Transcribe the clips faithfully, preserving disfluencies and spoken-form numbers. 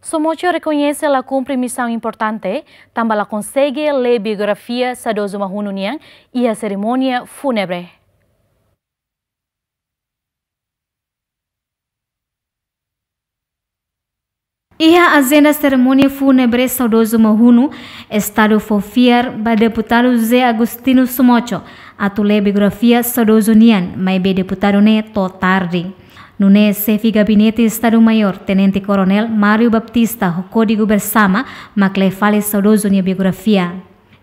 Somoco rekoñese la kumpre misaun importante, tanba la konsege lee biografia saudozu Mahunu nian iha serimónia fúnebre. Iha ajenda serimónia fúnebre saudozu Mahunu, Estadu fó fiar ba Deputadu José Agostinho Somoco atu lee biografia saudozu nian, maibé deputadu ne'e to'o tarde. Nune'e Xefe Gabinete Estadu Maiór, Tenente Koronél Mário Baptista, ho Kódigu Bersama, mak lee fali saudozu nia biografia.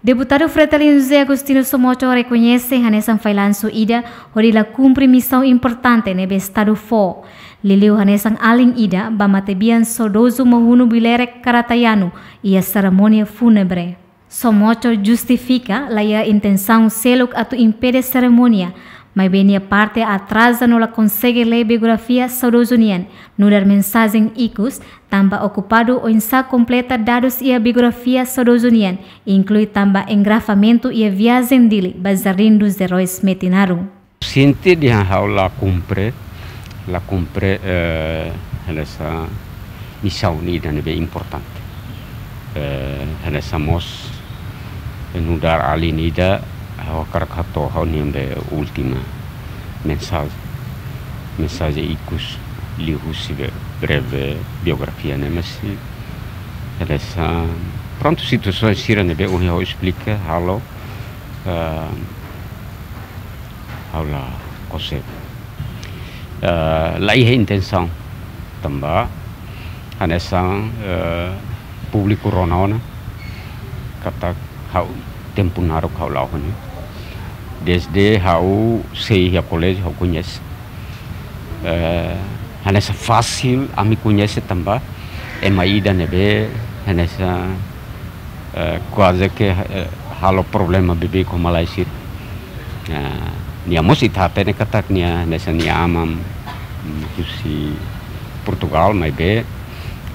Deputadu Fretilin José Agostinho Somoco rekoñese hanesan fallansu ida hodi la kumpre misaun importante ne'ebé Estadu fó, liuliu hanesan alin ida ba matebian saudozu Mahunu Bilere Karatayanu iha serimónia fúnebre. Somoco justifika la iha intensaun seluk atu impede serimónia, maibé nia parte atraza no la konsege lee biografia saudozu nian, nu'udar mensajen ikus, tanba okupadu oinsá kompleta dadus iha biografia saudozu nian, inklui tanba engarrafamentu iha viajen Dili ba Jardim dos Heróis Metinaro. Siente dehan ha'u la kumpre, la kumpre, eh, hanesan misaun ida ne'ebé importante. Eh, hanesan mós, eh, nu'udar alin ida, ha'u hakarak hato'o ha'u-nia be última mensajen. Mensajen ikus liuhusi be breve biografia ne'e, mas hanesan, prontu, situasaun sira ne'ebé ohin ha'u esplika halo, eh, ha'u la konsege. Eh, la iha intensaun tanba hanesan, eh, públiku rona ona katak ha'u tempu naruk ha'u la'o ona. Dezde ha'u sei iha koléjiu ha'u koñese. Eh, hanesan fasil ami koñese tanba ema ida ne'ebé hanesan, eh, kuaze ke, eh, halo problema bebeik ho malae sira. Ah, nia mós ita hatene katak nia hanesan nia aman, mm, husi Portugal, maibé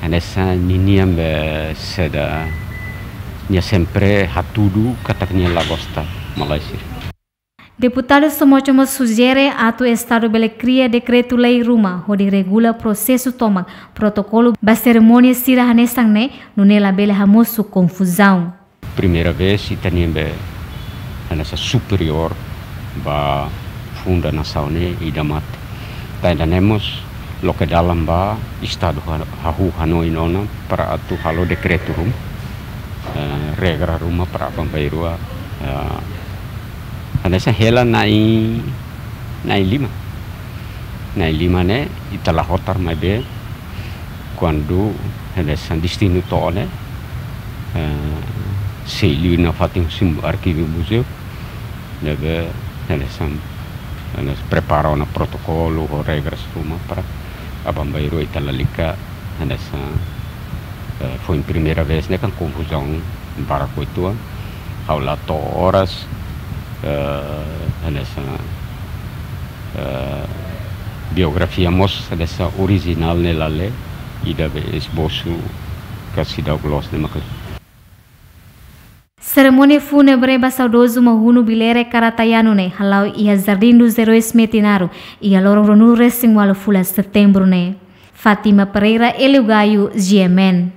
hanesan ninian be saida, nia sempre hatudu katak nia la gosta malae sira. Deputadu Somoco mós sujere atu Estadu bele kria dekretu-lei ruma hodi regula prosesu tomak protokolu ba serimónia sira hanesan ne'e, nune'e labele hamosu konfuzaun. Primeira vez ita-nian be hanesan superiór ba funda nasaun ne'e ida mate. Tanba ne'e mós loke dalan ba Estadu ha-, hahú hanoin ona para atu halo dekretu ruma, eh, regra ruma para aban-bainrua, eh, hanesan hela na'in, na'in lima. Na'in lima ne'e ita la hotar, maibé kuandu hanesan destinu to'o ne'e, eh, sei liu nafatin husi arkivu muzeu, ne'ebé hanesan, hanesan prepara ona protokolu ho regras ruma para aban-bainrua ita lalika hanesan, eh, foin primeira vez ne'e kan konfuzaun barak uitoan, ha'u la to'o oras, eh, hanesan, eh, biografia mós hanesan orijinál ne'e la lee, ida be esbosu ka seidauk loos ne'e mak. Serimónia fúnebre ba saudozu Mahunu Bilere Karatayanu ne'e hala'o iha Jardim dos Heróis Metinaro, iha loron ruanulu-resin-ualu fulan Setembru ne'e. Fátima Pereira, Hélio Gaio, G M N.